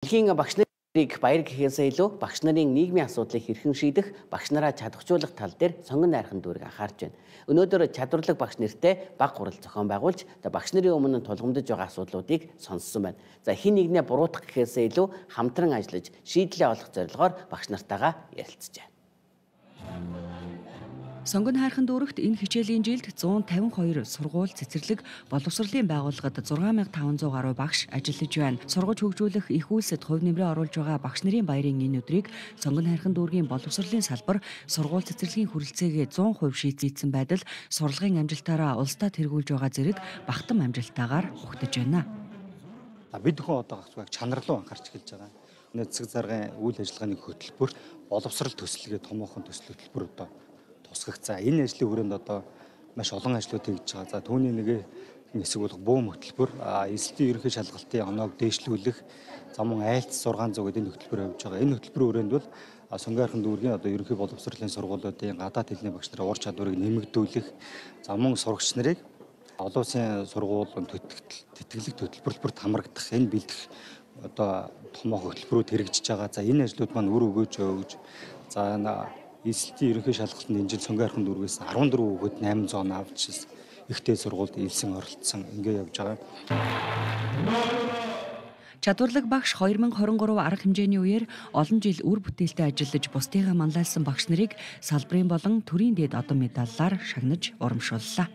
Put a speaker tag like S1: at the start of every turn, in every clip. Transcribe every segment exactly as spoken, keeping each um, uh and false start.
S1: Дэлхийн багш нарыг баяр гэхээсээ илүү багш нарын нийгмийн асуудлыг хэрхэн шийдэх, багш нараа чадахжуулах тал дээр сонгон найрхан дүүрэг анхаарч байна. Өнөөдөр чадварлаг багш нартай баг хурал зохион байгуулж, багш нарын өмнө тулгамдж байгаа асуудлуудыг сонссон байна. За хин нэгнээ буруутгах гэхээсээ илүү хамтран ажиллаж, шийдлээ олох зорилгоор багш нартайгаа ярилцжээ.
S2: Сонгон хайрхан дүүрэгт энэ хичээлийн жилд зуун тавин хоёр сургууль цэцэрлэг боловсролын байгууллагад зургаан мянга таван зуун гаруй багш ажиллаж байна. Сургаж хөгжүүлэх их үйлсэд хувь нэмрээ оруулж байгаа багш нарын баярын энэ өдрийг сонгон хайрхан дүүргийн боловсролын салбар сургууль цэцэрлэгийн хүрэлцээгээ зуун хувь шийдсэн байдал сурлагын амжилтаараа улсдаа тэргүүлж байгаа зэрэг бахтам амжилтаагаар ухтаж байна.
S3: Бид хүн одоо гацваг чанар руу анхаарч эхэлж байгаа. Энэ цэцэг заргын үйл ажиллагааны хөтөлбөр боловсрол төслөгийн томоохон төсөл хөтөлбөр одоо тусгах. За энэ ажлын хүрээнд одоо маш олон ажлууд хийж байгаа. За түүний нэг хэсэг болох бөөм хөтөлбөр, эсэлтийн ерөнхий шалгалтын оноог дээшлүүлэх, за мөн айлц зургаан зуун гэдэг энэ хөтөлбөр явьж байгаа. Энэ хөтөлбөрийн хүрээнд бол сонгон хайрхан дүүргийн одоо ерөнхий боловсролын сургуулиудын гадаад хэлний багш нарын ур чадварыг нэмэгдүүлэх, за мөн сурагч нарыг олон улсын сургуулийн тэтгэлэг хөтөлбөрлөлбөрт хамрагдах энэ бэлдэх одоо томоохон хөтөлбөрүүд хэрэгжиж байгаа. За энэ ажлууд маань үр өгөөж өгж, за эсэлтийн ерөнхий шалгалтанд энэ жил сонгон хайрхан дүүргээс арван дөрвөн хүүхэд найман зуун авч ихтэй сургуульд илсэн оролцсон ингэ явж байгаа.
S2: Чадварлаг багш хоёр мянга хорин гурав арга хэмжээний үеэр олон жил үр бүтээлтэй ажиллаж бусдыгаа манлайлсан багш нарыг салбарын болон төрийн дэд одон медаллаар шагнаж урамшууллаа.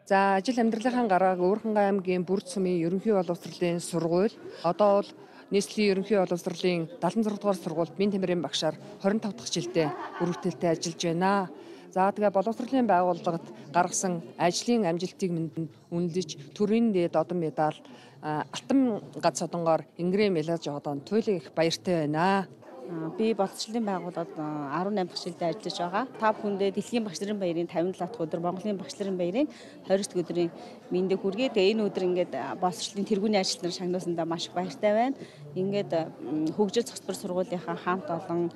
S4: За ажил амьдралынхаа гарааг Уурхан аймгийн Бүрд сумын ерөнхий боловсролын сургууль одоо бол нийслэлийн ерөнхий боловсролын дадлан зургаан дугаар сургуульд бие тамирын багшаар хорин тав дахь жилдээ үр бүтээлтэй ажиллаж байна. За тэгээ боловсролын байгууллагад гаргасан ажлын амжилтыг үнэлж төрийн дэд одон медаль, алтан гац одонгоор Ингрэм Мелаж одон туйлын их баяртай байна.
S5: Би боловсролын байгууллагад арван найман дахь жилдээ ажиллаж байгаа. Та бүхэндээ Дэлхийн багш нарын баярын тавин далай дахь өдөр, Монголын багш нарын баярын хоёр дахь өдрийн мэндийг хүргэе. Тэгээ энэ өдөр ингээд боловсролын тэргүүний ажил нар шагнуулсандаа маш их баяртай байна. Ингээд хөгжил цогцлбор сургуулийнхаа хамт олон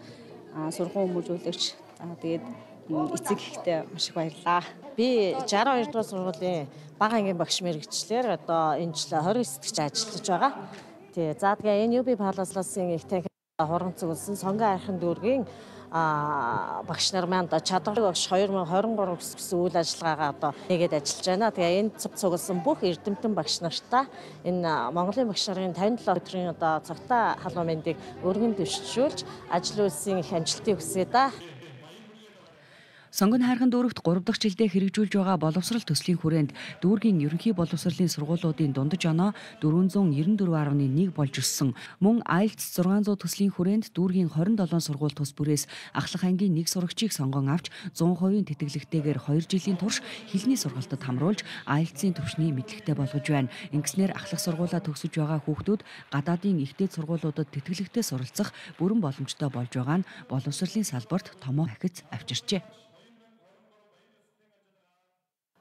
S5: сургууль хүмүүжүүлэгч тэгээд эцэг ихтэй маш их баярлалаа.
S6: Би шестьдесят хоёр дугаар сургуулийн бага ангийн багш мэргэжлэр одоо энэ жил хорин сэтгч ажиллаж байгаа. Тэгээ за тэгээ энэ ю би Паласласын их танхи хуран цугласан сонгон хайрхан дүүргийн багш нар маань чадварлаг багш хоёр мянга хорин гурав гэсэн үйл ажиллагаагаа одоо нэгээд ажиллаж байна. Тэгээ энэ цуг цугласан бүх эрдэмтэн багш нартаа энэ Монголын багш нарын тавин долоо өдрийн одоо цагтаа халуун мэндийг өргөн дэвшүүлж ажил үйлсийн их амжилтыг хүсье да.
S2: Сонгон хайрхан дүүрэгт гурав дахь жилдээ хэрэгжүүлж байгаа боловсрол төслийн хүрээнд дүүргийн ерөнхий боловсролын сургуулиудын дундаж оноо дөрвөн зуун найман дөрвөн гаруй нэг болж өссөн. Мөн айлтс зургаан зуун төслийн хүрээнд дүүргийн хорин долоон сургууль тус бүрээс ахлах ангийн нэг сурагчийг сонгон авч зуун хувийн тэтгэлэгтэйгээр хоёр жилийн турш хэлний сургалтад хамруулж айлтсын төвшний мэдлэгтэй болгож байна. Ингэснээр ахлах сургуулаа төгсөж байгаа хүүхдүүд гадаадын ихтэй сургуулиудад тэтгэлэгтэй суралцах бүрэн боломжтой болж байгаа нь боловсролын салбарт томоо ахиц авчирчээ.